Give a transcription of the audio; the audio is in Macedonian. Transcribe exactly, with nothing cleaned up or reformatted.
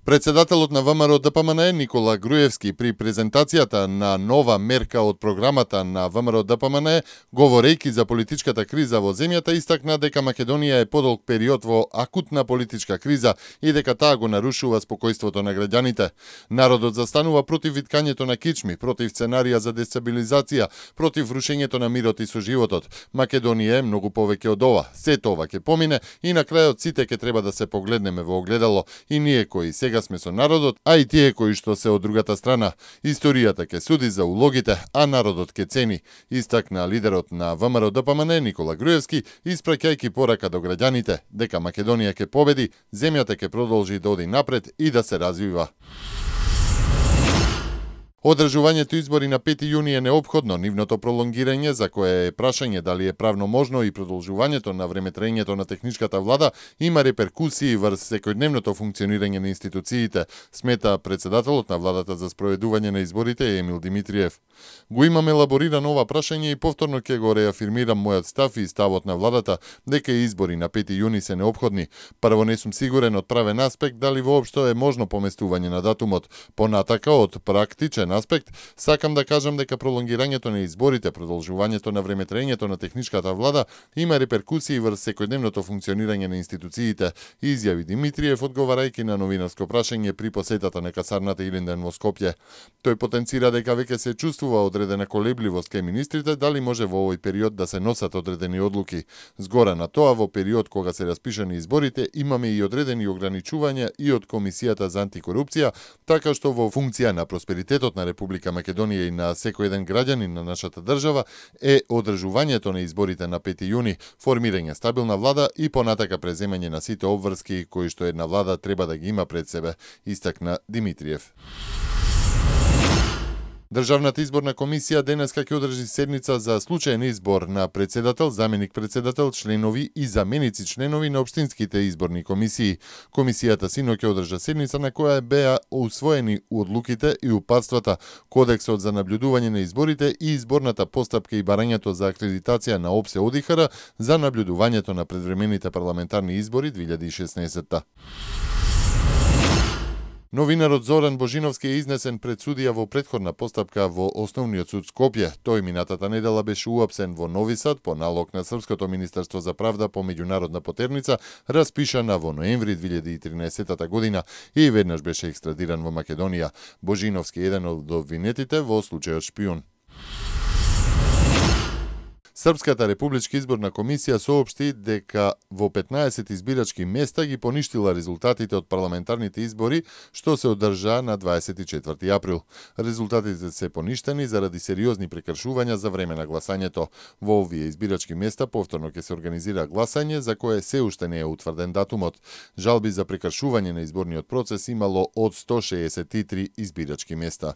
Председателот на ВМРО Д П М Н Никола Груевски при презентацијата на нова мерка од програмата на ВМРО Д П М Н, говорејќи за политичката криза во земјата, истакна дека Македонија е подолг период во акутна политичка криза и дека таа го нарушува спокојството на граѓаните. Народот застанува против виткањето на кичми, против сценарија за дестабилизација, против рушењето на мирот и соживотот. Македонија е многу повеќе од ова. Сето ова ќе помине и на крајот сите ќе треба да се погледнеме во огледало, и ние кои сега сме со народот, а и тие кои што се од другата страна. Историјата ќе суди за улогите, а народот ќе цени, истакна лидерот на ВМРО Д П М Н Никола Груевски, испраќајќи порака до граѓаните дека Македонија ќе победи, земјата ќе продолжи да оди напред и да се развива. Одржувањето избори на пети јуни е неопходно, нивното пролонгирање, за кое е прашање дали е правно можно, и продолжувањето на времетраењето на техничката влада има реперкусии врз секојдневното функционирање на институциите, смета председателот на владата за спроведување на изборите Емил Димитриев. Го имаме елаборирано ова прашање и повторно ќе го реафирмирам мојот став и ставот на владата дека избори на пети јуни се неопходни. Прво, не сум сигурен од правен аспект дали воопшто е можно поместување на датумот. Понатака, од практичен аспект, сакам да кажам дека пролонгирањето на изборите, продолжувањето на времетраењето на техничката влада има реперкусии врз секојдневното функционирање на институциите, изјави Димитриев одговарајќи на новинарско прашање при посетата на касарната Илинден во Скопје. Тој потенцира дека веќе се чувствува одредена колебливост кај министрите дали може во овој период да се носат одредени одлуки. Згора на тоа, во период кога се распишани изборите, имаме и одредени ограничувања и од Комисијата за антикорупција, така што во функција на просперитетот на Република Македонија и на секој еден граѓанин на нашата држава е одржувањето на изборите на пети јуни, формирање стабилна влада и понатака преземање на сите обврски кои што една влада треба да ги има пред себе, истакна Димитриев. Државната изборна комисија денеска ќе одржи седница за случаен избор на председател, заменик председател, членови и заменици членови на општинските изборни комисии. Комисијата синоќа одржа седница на која беа усвоени одлуките и упатствата, кодексот за наблюдување на изборите и изборната постапка и барањето за акредитација на ОПСЕ О Д И Х Р за наблюдувањето на предвремените парламентарни избори две илјади и шеснаесетта. Новинарот Зоран Божиновски е изнесен пред судија во претходна постапка во Основниот суд Скопје. Тој минатата недела беше уапсен во Нови Сад по налог на Српското министерство за правда по меѓународна потерница, распишана во ноември две илјади и тринаесетта година, и веднаш беше екстрадиран во Македонија. Божиновски е еден од обвинетите во случајот шпион. Српската републичка изборна комисија соопшти дека во петнаесет избирачки места ги поништила резултатите од парламентарните избори што се одржаа на дваесет и четврти април. Резултатите се поништени заради сериозни прекршувања за време на гласањето. Во овие избирачки места повторно ќе се организира гласање за кое се уште не е утврден датумот. Жалби за прекршување на изборниот процес имало од сто шеесет и три избирачки места.